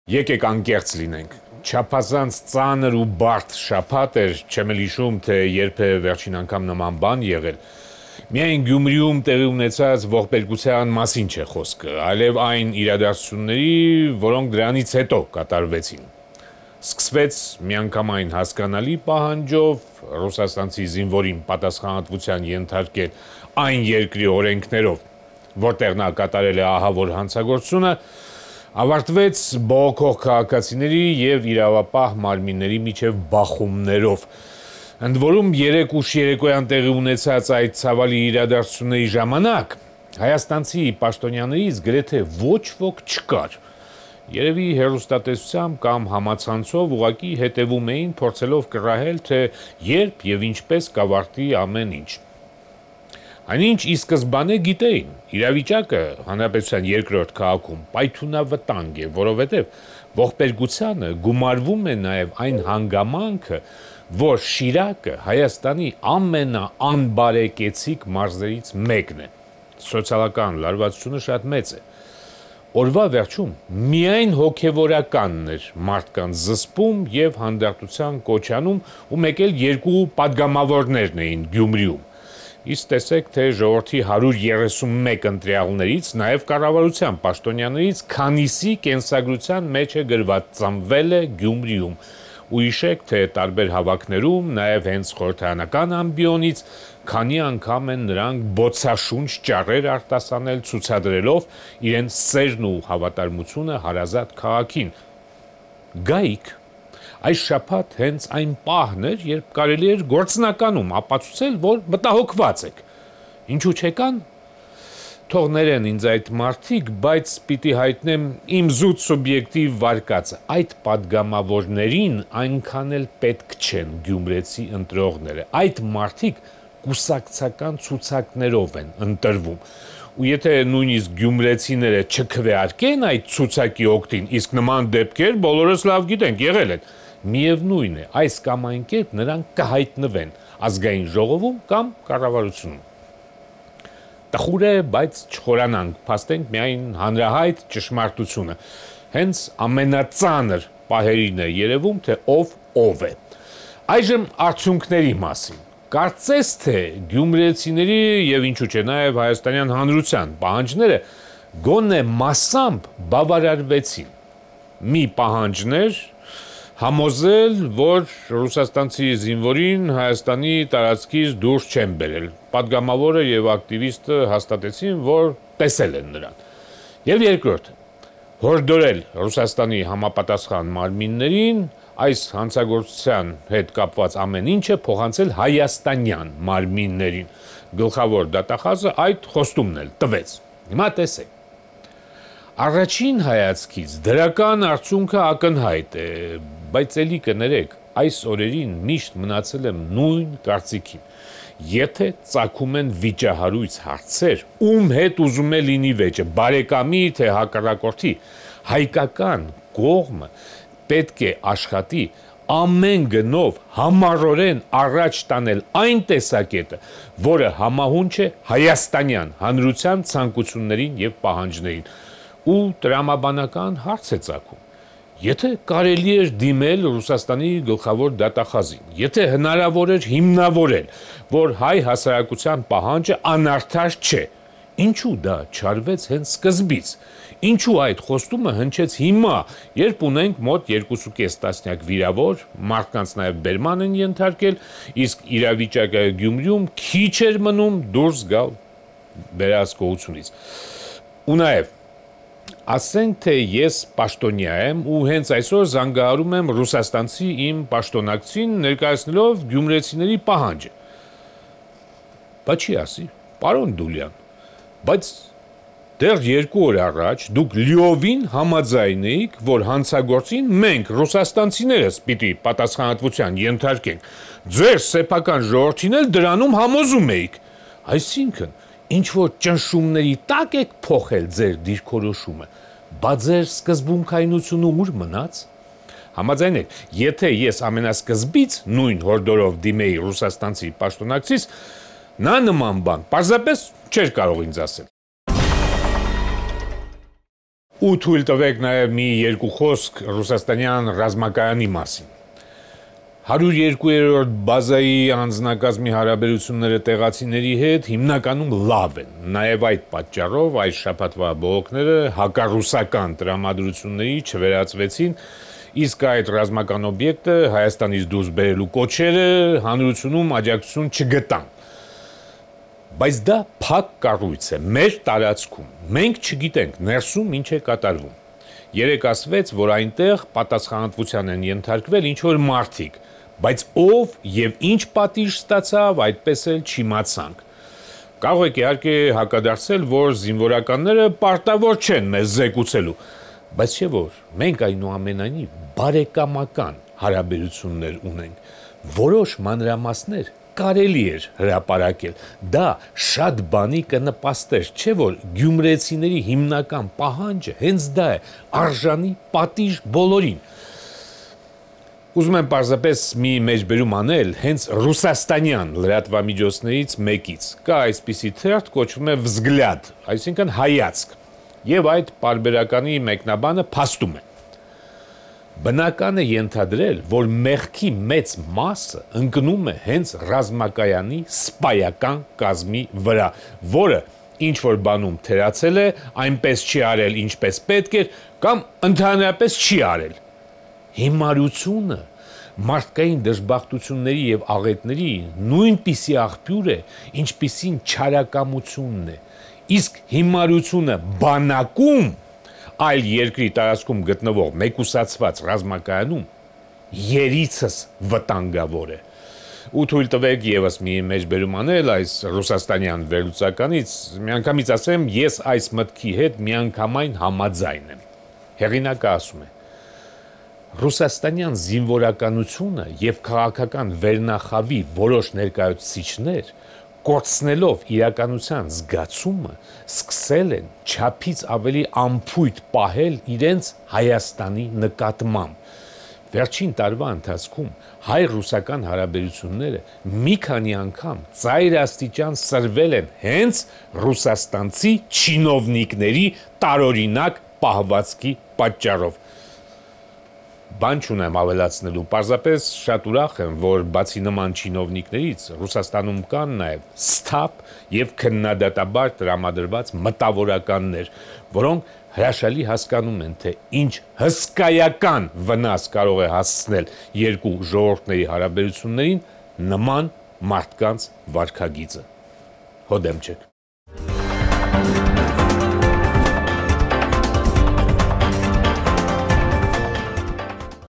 Եկեք անկեղծ լինենք։ Չափազանց ծանր ու բարդ շաբաթ էր, չեմ էլ հիշում, թե երբ է վերջին անգամ նման բան եղել։ Միայն Գյումրիում տեղի ունեցած ողբերգության մասին չէ խոսքը, այլև այն իրադարձությունների, որոնք դրանից հետո կատարվեցին։ Սկսվեց միանգամայն հասկանալի պահանջով ռուսաստանցի զինվորին պատասխանատվության ենթարկել այն երկրի օրենքներով, որտեղ նա կատարել է ահավոր հանցագործությունը, ավարտվեց բողոքող քաղաքացիների եւ իրավապահ մարմինների միջև բախումներով։ Ընդ որում 3 ուշ երեկոյան տեղի ունեցած այդ ցավալի իրադարձությունների ժամանակ հայաստանցի պաշտոնյաներից գրեթե ոչ ոք չկար։ Երևի հեռուստատեսությամբ կամ համացանցով ուղղակի հետևում էին, փորձելով կռահել, թե երբ եւ ինչպես կավարտի ամեն ինչ։ Այնինչ ի սկզբանե գիտեին, իրավիճակը հանրապետության երկրորդ քաղաքում պայթունավտանգ է, որովհետև ողբերգությանը գումարվում է նաև այն հանգամանքը, որ Շիրակը Հայաստանի ամենաանբարեկեցիկ մարզերից մեկն է։ Սոցիալական լարվածությունը շատ մեծ է։ Օրվա վերջում միայն հոգևորականն էր մարդկանց զսպում եւ հանդարտության կոչանում ու մեկ էլ 2 падգամավորներն էին Գյումրիում։ Իսկ տեսեք, թե ժողովրդի 131 ընտրյալներից, նաև կառավարության պաշտոնյաներից քանիսի կենսագրության մեջ է գրված ծնվել է Գյումրիում։ Ու հիշեք, թե տարբեր հավաքներում, նաև հենց խորհրդարանական ամբիոնից, քանի անգամ են նրանք բոցաշունչ ճառեր արտասանել ցուցադրելով իրենց սերն ու հավատարմությունը հարազատ քաղաքին։ Գայք այս շաբաթ հենց այն պահն էր, երբ կարելի էր գործնականում ապացուցել, որ մտահոգված եք։ Ինչու չեկան։ Թող ներեն ինձ այդ մարդիկ, բայց պիտի հայտնեմ իմ զուտ սուբյեկտիվ վարկածը։ Այդ падգամավորներին այնքան էլ պետք չեն գյումրեցի ընտրողները։ Այդ մարդիկ կուսակցական ցուցակներով են ընտրվում։ Ու եթե նույնիսկ գյումրեցիները չքվեարկեն այդ ցուցակի օգտին, իսկ նման դեպքեր բոլորս լավ գիտենք, եղել են, միևնույն է, այս կամ այն կերպ նրանք կհայտնվեն ազգային ժողովում կամ կառավարությունում։ Տխուր է, բայց չխորանանք, փաստենք միայն հանրահայտ ճշմարտությունը։ Հենց ամենածանր պահերին է երևում, թե ով է։ Այժմ արդյունքների մասին։ Կարծես թե գյումրեցիների եւ ինչու՞ չէ նաեւ հայաստանյան հանրության պահանջները գոնե մասամբ բավարարվեցին։ Մի պահանջներ համոզել, որ ռուսաստանցի զինվորին Հայաստանի տարածքից դուրս չեն բերել։ Պատգամավորը եւ ակտիվիստը հաստատեցին, որ տեսել են նրան։ Եվ երկրորդը հորդորել Ռուսաստանի համապատասխան մարմիններին այս հանցագործության հետ կապված ամեն ինչը փոխանցել հայաստանյան մարմիններին։ Գլխավոր դատախազը այդ խոստումն էլ տվեց։ Հիմա տեսեք։ Առաջին հայացքից դրական արդյունքը ակնհայտ է, բայց ելի կներեք, այս օրերին միշտ մնացել եմ նույն կարծիքին։ Եթե ծագում են վիճահարույց հարցեր, ում հետ ուզում է լինի վեճը, բարեկամի թե հակառակորդի, հայկական կողմը պետք է աշխատի ամեն գնով համառորեն առաջ տանել այն տեսակետը, որը համահունչ է հայաստանյան հանրության ցանկություններին եւ պահանջներին։ Ու տրամաբանական հարց է ծագում։ Եթե կարելի էր դիմել Ռուսաստանի գլխավոր դատախազին, եթե հնարավոր էր հիմնավորել, որ հայ հասարակության պահանջը անարդար չէ, ինչու դա չարվեց հենց սկզբից։ Ինչու այդ խոստումը հնչեց հիմա, երբ ունենք մոտ 2.5 տասնյակ վիրավոր, մարդկանց նաև բերման են ենթարկել, իսկ իրավիճակը Գյումրիում քիչ էր մնում դուրս գալ վերահսկողությունից։ Ու նաև ասենք թե ես պաշտոնյա եմ ու հենց այսօր զանգահարում եմ ռուսաստանցի իմ պաշտոնակցին ներկայացնելով գյումրեցիների պահանջը։ Բայց չի ասի, պարոն Դուլյան, բայց դեռ 2 օր առաջ դուք լիովին համաձայն էիք, որ հանցագործին մենք ռուսաստանցիներս պիտի պատասխանատվության ենթարկենք։ Ձեր սեփական ժողովրդին էլ դրանում համոզում էիք։ Այսինքն, ինչ որ ճնշումների տակ եք փոխել ձեր դիրքորոշումը, բա ձեր սկզբունքայնությունը ուր մնաց։ Համաձայն եք, եթե ես ամենասկզբից նույն հորդորով դիմեի ռուսաստանցի պաշտոնակցից, նա նման բան պարզապես չէր կարող ինձ ասել։ Ու թույլ տվեք նաև մի երկու խոսք ռուսաստանյան ռազմակայանի մասին։ 102-րդ բազայի անձնակազմի հարաբերությունները տեղացիների հետ հիմնականում լավ են։ Նաև այդ պատճառով այս շաբաթվա բողոքները հակառուսական տրամադրությունների չվերածվեցին, իսկ այդ ռազմական օբյեկտը Հայաստանից դուրս բերելու կոչերը հանրությունում աջակցություն չգտան։ Բայց դա փակ կառույց է մեր տարածքում։ Մենք չգիտենք ներսում ինչ է կատարվում։ Երեք ասվեց, որ այնտեղ պատասխանատվության են ենթարկվել ինչ-որ մարդիկ, բայց ով եւ ինչ պատիժ ստացավ, այդպես էլ չիմացանք։ Կարող եք իհարկե հակադարձել, որ զինվորականները պարտավոր չեն մեզ զեկուցելու, բայց չէ որ մենք այնուամենայնիվ բարեկամական հարաբերություններ ունենք, որոշ մանրամասներ կարելի էր հրապարակել, դա շատ բանի կնպաստեր, չէ որ գյումրեցիների հիմնական պահանջը հենց դա է, արժանի պատիժ բոլորին։ Ուզում եմ պարզապես մի մեջբերում անել հենց ռուսաստանյան լրատվամիջոցներից մեկից, կա այսպիսի թերթ, կոչվում է «Վզգլյադ», այսինքն հայացք, եւ այդ պարբերականի մեկնաբանը փաստում է։ Բնական է ենթադրել, որ մեղքի մեծ մասը ընկնում է հենց ռազմակայանի սպայական կազմի վրա, որը ինչ-որ բանում թերացել է, այնպես չի արել, ինչպես պետք էր, կամ ընդհանրապես չի արել։ Հիմարությունը մարդկային դժբախտությունների եւ աղետների նույնպիսի աղբյուր է, ինչպիսին չարակամությունն է, իսկ հիմարությունը բանակում այլ երկրի տարածքում գտնվող մեկուսացված ռազմակայանում երիցս վտանգավոր է։ Ու թույլ տվեք եւս մի մեջբերում անել այս ռուսաստանյան վերլուծականից, միանգամից ասեմ, ես այս մտքի հետ միանգամայն համաձայն եմ։ Հեղինակը ասում է. Ռուսաստանյան զինվորականությունը եւ քաղաքական վերնախավի որոշ ներկայացուցիչներ կորցնելով իրականության զգացումը սկսել են չափից ավելի անփույթ պահել իրենց Հայաստանի նկատմամբ։ Վերջին տարվա ընթացքում հայ-ռուսական հարաբերությունները մի քանի անգամ ծայրաստիճան սրվել են հենց ռուսաստանցի չինովնիկների տարօրինակ պահվածքի պատճառով։ Բան չունեմ ավելացնելու, պարզապես շատ ուրախ եմ, որ բացի նման չինովնիկներից Ռուսաստանում կան նաև սթափ եւ քննադատաբար տրամադրված մտավորականներ, որոնք հրաշալի հասկանում են, թե ինչ հսկայական վնաս կարող է հասցնել երկու ժողովուրդների հարաբերություններին նման մարդկանց վարքագիծը։ Հոդեմ չեք։